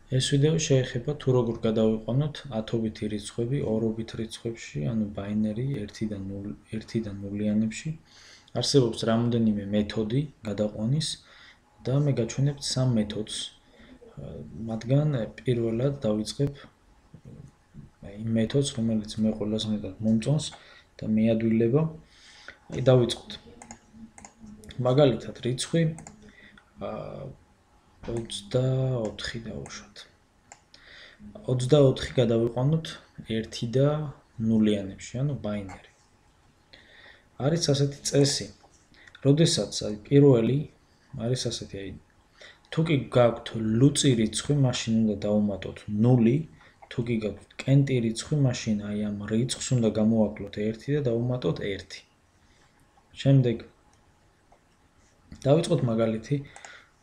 ეს ვიდეო შეეხება თუ როგორ გადავიყვანოთ 10-ობითი რიცხვები 2-ობით რიცხვებში, ანუ ბაინერი 1-დან 0-იანებში. არსებობს რამოდენიმე მეთოდი გადაყვანის და მე გაჩვენებთ 3 მეთოდს. მათგან პირველად დავიწყებ იმ მეთოდს, რომელიც მე ყველაზე მეტად მომწონს და მეადვილება. დავიწყოთ. მაგალითად, რიცხვი 24 დავუშვათ. 24 გადავიყვანოთ 1 და 0-იანებში, ანუ ბაინერი. არის ასეთი წესი, როდესაც პირველი არის ასეთი, თუ კი გაქვთ ლუწი რიცხვი, მაშინ უნდა დავუმატოთ 0, თუ კი გაქვთ კენტი რიცხვი, მაშინ აი ამ რიცხვს უნდა გამოვაკლოთ 1 და დავუმატოთ 1. შემდეგ დავიწყოთ მაგალითი,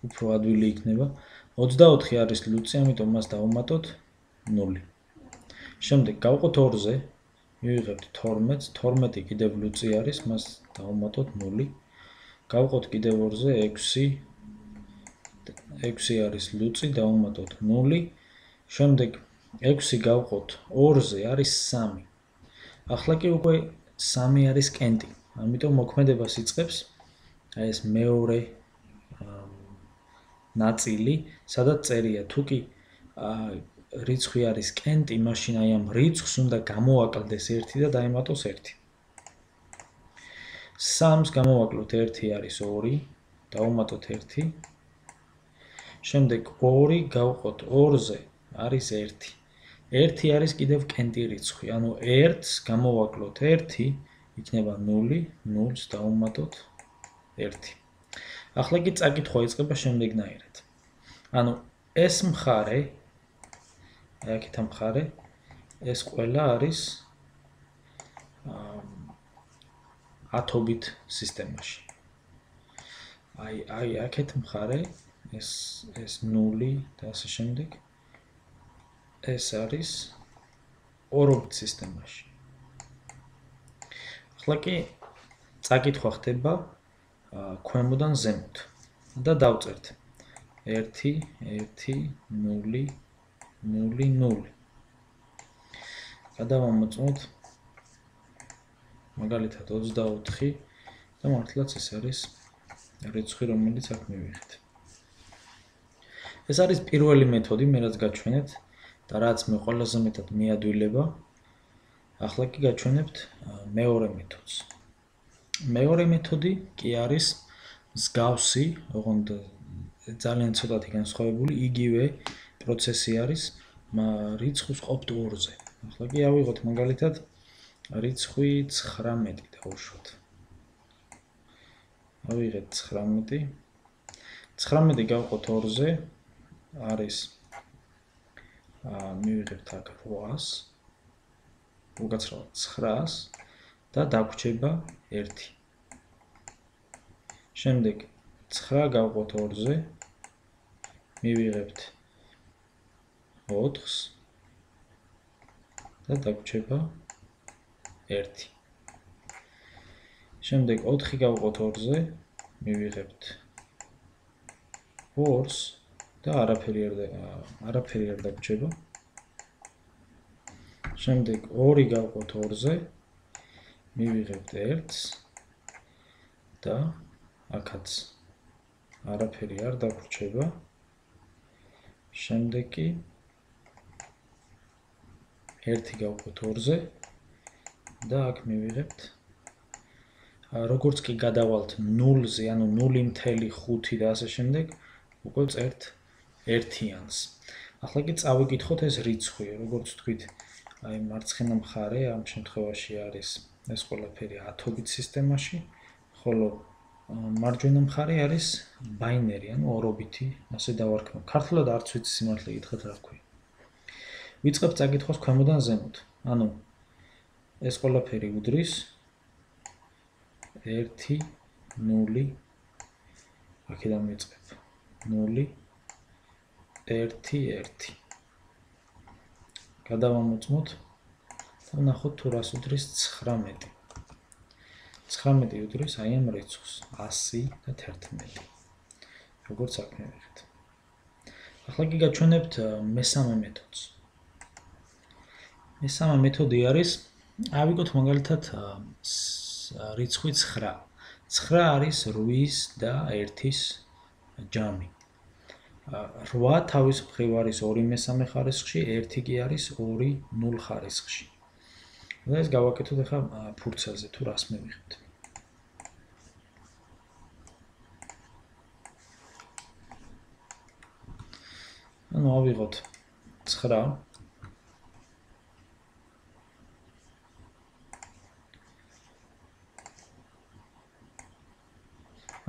უფრო ადვილი იქნება. 24 არის ლუწი, ამიტომ მას დავუმატოთ 0. შემდეგ გავყოთ 2-ზე, მივიღებთ 12, 12 კიდევ ლუწი არის, მას დავუმატოთ 0. გავყოთ კიდევ 2-ზე 6, 6 არის ლუწი, დავუმატოთ 0. შემდეგ 6 გავყოთ 2-ზე არის 3. ახლა კი უკვე 3 არის კენტი, ამიტომ მოქმედებას იწყებს აი ეს მეორე ნაწილი, სადაც წერია, თუ კი რიცხვი არის კენტი, მაშინ აი ამ რიცხვს უნდა გამოვაკლდეს 1 და დაემატოს 1. 3-ს გამოვაკლოთ 1 არის 2, დავუმატოთ 1. შემდეგ 2 გავყოთ 2-ზე არის 1. 1 არის კიდევ კენტი რიცხვი, ანუ 1-ს გამოვაკლოთ 1, იქნება 0, 0-ს დავუმატოთ 1. ახლა კი წაკითხვა იწყება შემდეგნაირად. ანუ ეს მხარე, აქეთ ამ მხარე, ეს ყველა არის 10-ობით სისტემაში. აი აქეთ მხარე, ეს 0 და ასე შემდეგ. ეს არის 2-ობით სისტემაში. ახლა კი წაკითხვა ხდება ქვემოდან ზემოთ და დავწერთ 1 1 0 0 0. გადავამოწმოთ მაგალითად 24 და მართლაც ეს არის რიცხვი, რომელიც აქ მივიღეთ. ეს არის პირველი მეთოდი, მე რაც გაჩვენეთ და რაც მე ყველაზე მეტად მეადვილება. ახლა კი გაჩვენებთ მეორე მეთოდს. მეორე მეთოდი კი არის მსგავსი, ოღონდ ძალიან ცოტათი განსხვავებული, იგივე პროცესი არის რიცხვის ყოფთ 2-ზე. ახლა კი ავიღოთ მაგალითად რიცხვი 19 დავუშვათ. ავიღეთ 19. 19 გავყოთ 2-ზე, არის მივიღებთ აქ 800, უკაცრავად 900 და დაგვრჩება 1. შემდეგ 9 გავყოთ 2-ზე, მივიღებთ 4-ს და დაგვრჩება 1. შემდეგ 4 გავყოთ 2-ზე, მივიღებთ 4-ს და არაფერი არ დაგვრჩება. შემდეგ 2 გავყოთ 2-ზე, მივიღებთ 1-ს და აქაც არაფერი არ დაგვრჩება. შემდეგ კი 1 გავყოთ 2-ზე და აქ მივიღებთ, როგორც კი გადავალთ 0-ზე, ანუ 0.5 და ასე შემდეგ, უკვე წერთ 1-იანს. ახლა კი წავიკითხოთ ეს რიცხვი, როგორც თქვით, აი მარცხენა მხარე ამ შემთხვევაში არის ეს ყველაფერი 10-ობით სისტემაში, ხოლო მარჯვენა მხარე არის ბაინერი, ანუ 2-ობითი, ასე დავარქმევ. ქართულად არც ვიცი სიმართლე გითხრათ რა ვქვი. ვიწყებთ წაკითხვას ქვემოდან ზემოთ. ანუ ეს ყველაფერი უდრის 1 0 აქედან ვიწყებ 0 1 1. გადავამოწმოთ და ვნახოთ თუ რას უდრის 19. 19 უდრის აი ამ რიცხვს 100 და 11. როგორც აქ მივიღეთ. ახლა კი გაჩვენებთ მესამე მეთოდს. მესამე მეთოდი არის, ავიღოთ მაგალითად რიცხვი 9. 9 არის 8-ის და 1-ის ჯამი. 8 თავის მხრივ არის 2/3 ხარისხში, 1 კი არის 2/0 ხარისხში. და ეს გავაკეთოთ ახლა ფურცელზე თუ რას მივიღებთ. ანუ ავიღოთ 9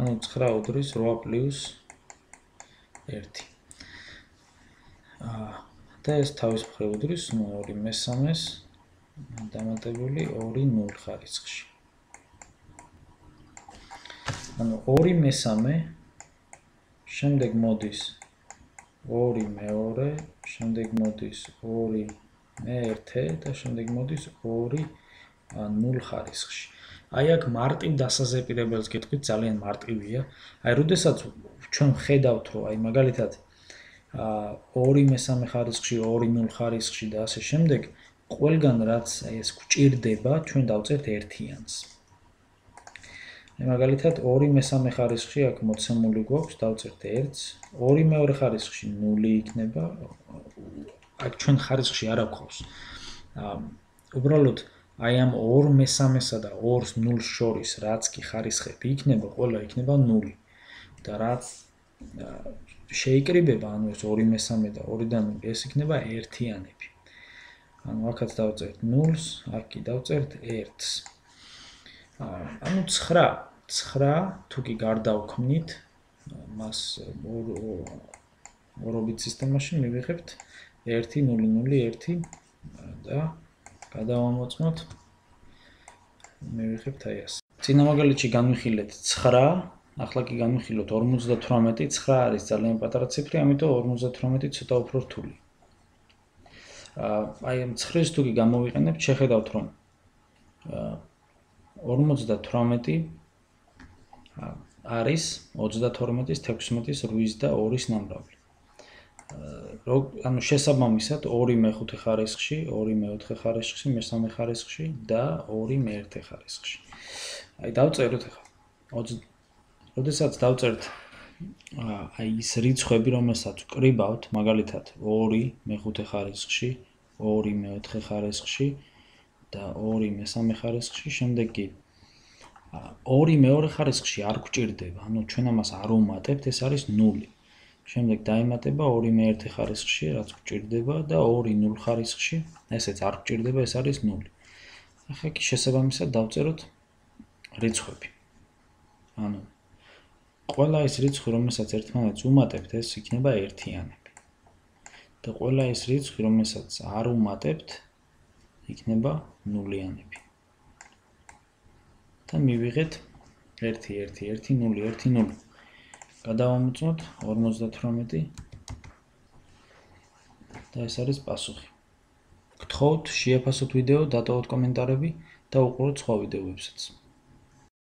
ანუ 9 უდრის 8 პლუს 1. და ეს თავის მხრივ უდრის 2/3 დამატებული 2/0 ხარისხში. ანუ 2/3 შემდეგ მოდის 2/2, შემდეგ მოდის 2/1 და შემდეგ მოდის 2/0 ხარისხში. აი აქ მარტივ დასაზეპირებელს გეტყვით, ძალიან მარტივია. აი როდესაც ჩვენ ვხედავთ, რომ აი მაგალითად 2/3 ხარისხში, 2/0 ხარისხში და ასე შემდეგ, ყველგან რაც აი ეს გვჭირდება, ჩვენ დავწერთ ერთიანს. მაგალითად 2/3 ხარისხში აქ მოცემული გვაქვს, დავწერთ 1-ს, 2/2 ხარისხში 0 იქნება. აქ ჩვენ ხარისხში არ აქვს. უბრალოდ აი ამ 2/3-სა და 2/0-ს შორის რაც კი ხარისხები იქნება, ყველა იქნება 0. და რაც შეიკრიბება, ანუ ეს 2/3 და 2/0, ეს იქნება ერთიანები. ანუ აქაც დავწერთ 0-ს, აქ კი დავწერთ 1-ს. ანუ 9 თუ კი გარდავქმნით, მას ორობით სისტემაში მივიღებთ 1 0 0 1 და გადავამოწმოთ, მივიღებთ აი ასე. წინა მაგალითში განვიხილეთ 9, ახლა კი განვიხილოთ 58, 9 არის ძალიან პატარა ციფრი, ამიტომ 58 ცოტა უფრო რთული. აი ამ 9-ს თუ კი გამოვიყენებთ, შეხედავთ რომ 58 არის 32-ის, 16-ის, 8-ის და 2-ის ნამრავლი. ანუ შესაბამისად 2/5 ხარისხში, 2/4 ხარისხში, მე-3 ხარისხში და 2/1 ხარისხში. აი დავწეროთ ახლა. როდესაც დავწერთ აი ის რიცხვები, რომელსაც ვკრიბავთ, მაგალითად 2/5 ხარისხში, 2/4 ხარისხში და 2/3 ხარისხში, შემდეგ კი 2/2 ხარისხში არ გვჭირდება, ანუ ჩვენ ამას არ ვუმატებთ, ეს არის 0. შემდეგ დაემატება 2/1 ხარისხში, რაც გვჭირდება და 2/0 ხარისხში, ესეც არ გვჭირდება, ეს არის 0. ახლა კი შესაბამისად დავწეროთ რიცხვები. ანუ ყველა ეს რიცხვი, რომელსაც ერთმანეთს ვუმატებთ, ეს იქნება ერთიანები. და ყველა ეს რიცხვი, რომელსაც არ ვუმატებთ, იქნება ნულიანები. და მივიღეთ 1 1 1 0 1 0. გადავამოწმოთ 58 და ეს არის პასუხი. გთხოვთ შეაფასოთ ვიდეო, დატოვოთ კომენტარები და უყუროთ სხვა ვიდეოებსაც.